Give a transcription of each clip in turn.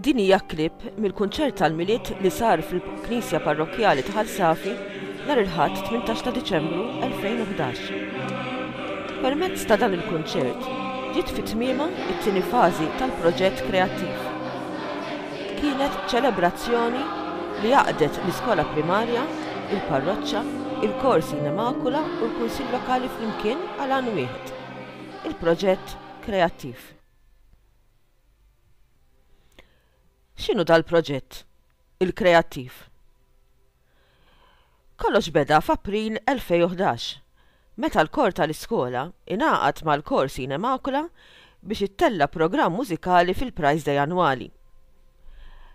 Din hija clip mill-kunċert tal-Milied li sar fil-Knisja Parrokkjali ta' Ħal Safi nhar il-Ħadd 18 ta' Diċembru 2011. Permezz ta' dan il-kunċert ġiet fi tmiemha t-tieni fażi tal-proġett kreattiv. Kienet ċelebrazzjoni li għaqqdet l-iskola primarja, il-parroċċa, il-Kor Sine Macula u l-Kunsill Lokali flimkien għal għan wieħed, il-proġett kreattiv. X'inhu dal-proġett, il-Kreattiv? Kollox beda f'April 2011, meta l-kor tal-iskola ingħaqad mal-Kor Sine Macula biex ittella' programm mużikali fil-Prize Day annwali.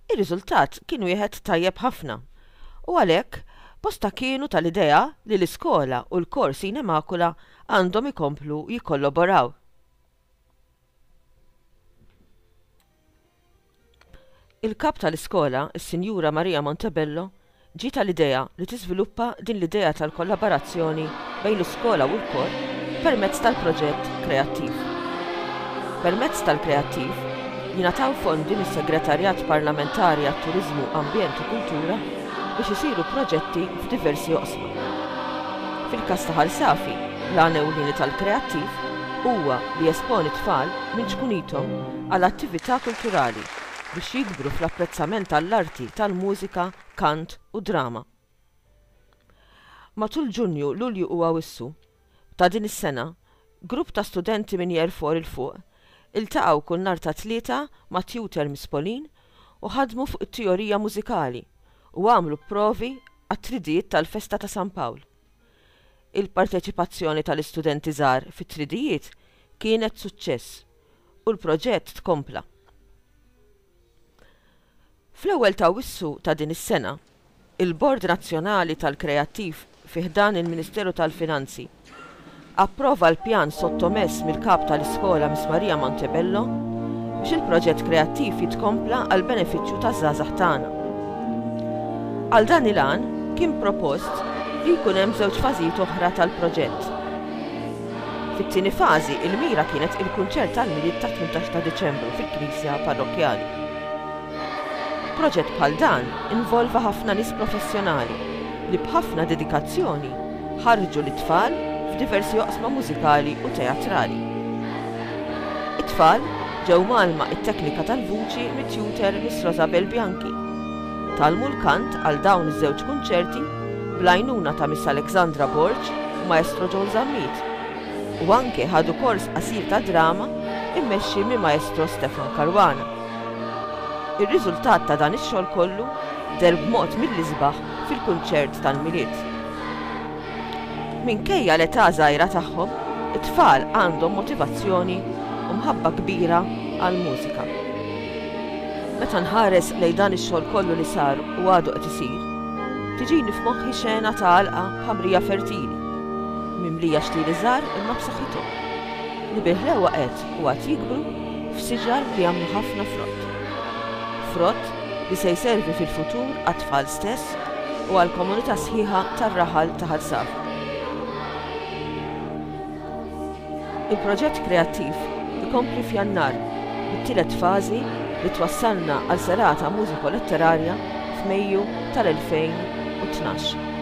Ir-riżultat kien wieħed tajjeb ħafna u għalhekk bosta kienu tal-idea li l-iskola u l-Kor Sine Macula għandhom ikomplu jikkolloboraw. Il-Kap tal-iskola, is-Sinjura Maria Montebello, ġietha l-idea li tiżviluppa din l-idea tal-kollaborazzjoni bejn l-iskola u l-kor permezz tal-proġett Kreattiv. Permezz tal-Kreattiv jingħataw fondi mis-Segretarjat Parlamentari għat-Turiżmu, Ambjent u Kultura biex isiru proġetti f'diversi oqsma. Fil-każ ta' Ħal Safi, l-għan ewlieni tal-Kreattiv huwa li jesponi tfal minn ċkunithom għal attività kulturali biex jikbru fl-apprezzament għall-arti tal-mużika, kant u drama. Matul Ġunju, Lulju u Awwissu ta' din is-sena, grupp ta' studenti minn Year 4 'il fuq iltaqgħu kull nhar ta' Tlieta ma' tutor Miss Pauline u ħadmu fuq it-teorija mużikali u għamlu provi għat-tridijiet tal-festa ta' San Pawl. Il-parteċipazzjoni tal-istudenti żgħar fit-tridijiet kienet suċċess u l-proġett tkompla. Fl-ewwel t'Awwissu ta' din is-sena, il-Bord Nazzjonali tal-Kreattiv fi ħdan il-Ministeru tal-Finanzi approva l-pjan sottomess mill-Kap tal-Iskola Miss Maria Montebello biex il-proġett kreattiv jitkompla għall-benefiċċju taż-żgħażagħ tagħna. Għal dan il-għan kien propost li jkun hemm żewġ fażijiet oħra tal-proġett. Fit-tieni fażi il-mira kienet il-kunċert tal-Milied tat-18 ta' Diċembru fil-Knisja Parrokkjali. Proġett bħal dan involva ħafna nies professjonali li b'ħafna dedikazzjoni ħarrġu lit-tfal f'diversi oqsma mużikali u teatrali. It-tfal ġew mgħallma t-teknika tal-vuċi mit-tutor Miss Rosabel Bianchi. Tgħallmu l-kant għal dawn iż-żewġ kunċerti bl-għajnuna ta' Miss Alexandra Borg u Maestro Joel Zammit u anke ħadu kors qasir ta' drama mmexxi minn Maestro Stefan Caruana. Ir-riżultat ta' dan ix-xogħol kollu deher b'mod mill-isbaħ fil-kunċert tal-Milied. Minkejja l-età żgħira tagħhom, it-tfal għandhom motivazzjoni u mħabba kbira għall-mużika. Meta nħares lejn dan ix-xogħol kollu li sar u għadu qed isir, tiġini f'moħħi xena ta' għalqa b'ħamrija fertili, mimlija xtieli żgħar imma b'saħħithom, li bil-ħlewwa qed u għad jikbru f'siġar li jagħmlu ħafna frott. Frott li se jservi fil-futur għat-tfal stess u għall-komunità sħiħa tar-raħal ta' Ħal Safi. Il-proġett kreattiv ikompli f'Jannar bit-tielet fażi li twassalna għal serata mużiko-letterarja f'Mejju tal-2012.